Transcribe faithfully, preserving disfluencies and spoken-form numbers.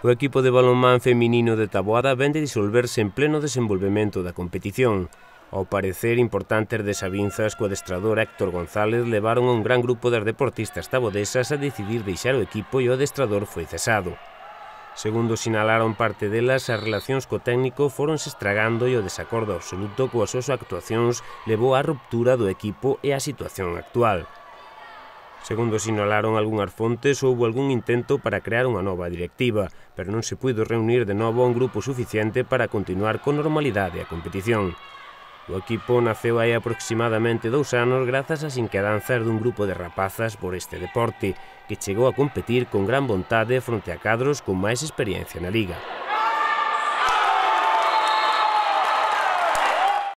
O equipo de balonmán feminino de Taboada vén de disolverse en pleno desenvolvemento da competición. Ao parecer, importantes desavinzas co adestrador Héctor González levaron a un gran grupo das deportistas tabodesas a decidir deixar o equipo e o adestrador foi cesado. Segundo sinalaron parte delas, as relacións co técnico foronse estragando e o desacordo absoluto coas súas actuacións levou á ruptura do equipo e á situación actual. Segundo sinalaron algunhas fontes, houbo algún intento para crear unha nova directiva, pero non se puido reunir de novo un grupo suficiente para continuar con normalidade a competición. O equipo naceu hai aproximadamente dous anos grazas ás inquedanzas dun grupo de rapazas por este deporte, que chegou a competir con gran vontade fronte a cadros con máis experiencia na liga.